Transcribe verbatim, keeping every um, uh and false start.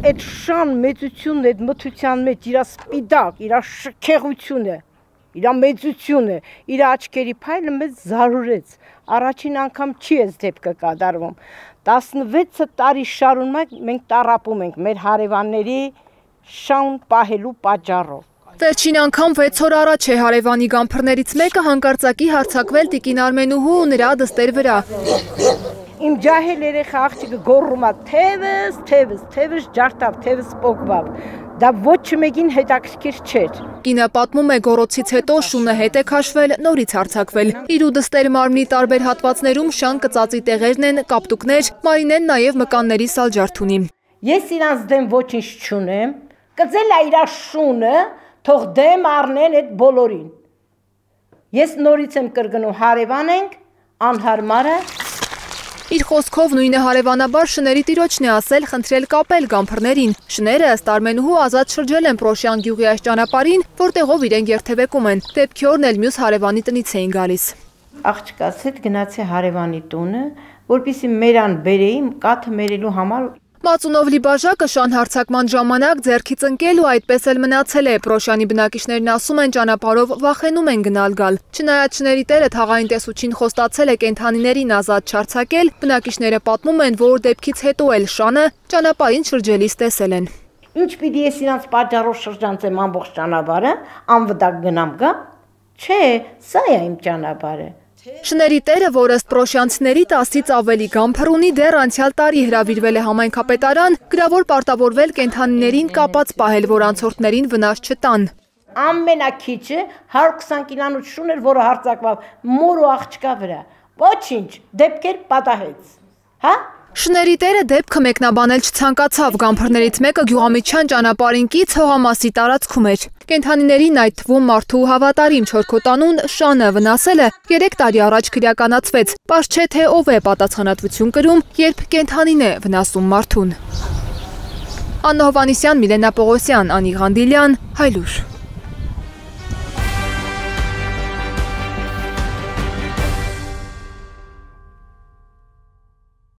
այդ շան մեծությունն, այդ մթության մեջ իր սպիդակ, իր շքեղությունը, իր մեծությունը, իր աչքերի փայլը մեզ զարուրեց։ Առաջին անգամ չի այս դեպքը կատարվում։ տասնվեց տարի շարունակ մենք տառապում ենք մեր հարևանների շան պահելու պատճառով։ Վերջին անգամ վեց օր առաջ է հարևանի գամփրներից մեկը հանկարծակի հարձակվել տիկին Արմենուհու ու նրա դստեր վրա։ Իմ ջահել երեխա աղջիկը գոռում է թևս, թևս, թևս ջարդավ, թևս պոկվավ։ Դա ոչ մեկին հետաքրքիր չէր։ Կինը պատմում է գոռոցից հետո շունը հետ է քաշվել, նորից հարձակվել։ Իր ու դստեր մարմնի տարբեր հատվածներում շան կծածի տեղերն են, կապտուկներ, Մարինեն նաև մկանների սալջարդ ունի։ Ես իրանց դեմ ոչինչ չունեմ, կծել է իր շունը, թող դեմ առնեն այդ բոլորին։ Ես նորից եմ կրկնում, հարևան ենք, անհարմար է։ Իր խոսքով նույնը հարևանաբար շների տիրոջն է ասել խնդրել կապել գամփրներին։ Շները ըստ Արմենուհու ազատ շրջել են Պրոշյան գյուղի այս ճանապարհին, որտեղով իրենք երթևեկում են։ Դեպքի օրն էլ մյուս հարևանի տնից էին գալիս։ Աղջկաս հետ գնացի հարևանի տունը, որպեսզի մերան բերեի կաթը մերելու համար։ Մածունով լի բաժակը շան հարձակման ժամանակ ձեռքից ընկել ու այդպես էլ մնացել է։ Պրոշյանի բնակիչներն ասում են ճանապարհով վախենում են գնալ գալ։ Չնայած շների տերը թաղային տեսուչին խոստացել է կենդանիներին ազատ չարձակել, բնակիչները պատմում են, որ դեպքից հետո էլ շանը ճանապարհին շրջելիս տեսել են։ Ինչ պիտի ես իրանց պատճառով շրջանցեմ ամբողջ ճանապարհը, անվտանգ գնամ գա։ Չէ, սա է իմ ճանապարհը։ Շների տերը, որ ըստ պրոշյանցիների տասից ավելի գամփր ունի, դեռ անցյալ տարի հրավիրվել է համայնքապետարան, գրավոր պարտավորվել կենդանիներին կապած պահել, որ անցորդներին վնաս չտան։ Ամենակիչը հարյուր քսան կիլոնոց շուն էր, որը հարձակվավ մոր ու աղջկա վրա։ Ոչինչ, դեպքեր պատահեց։ Հա? Շների տերը դեպքը մեկնաբանել չցանկացավ, գամփրներից մեկը Գյուղամիջյան ճանապարհին կից հողամասի տարածքում էր։ Կենդանիներին, այդ թվում մարդու հավատարիմ չորքոտանուն շանը վնասելը երեք տարի առաջ քրեականացվեց։ Պարզ չէ թե ով է պատասխանատվություն կրում, երբ կենդանին է վնասում մարդուն։ Աննա Հովհաննիսյան, Միլենա Պողոսյան, Անի Ղանդիլյան, Հայլուր։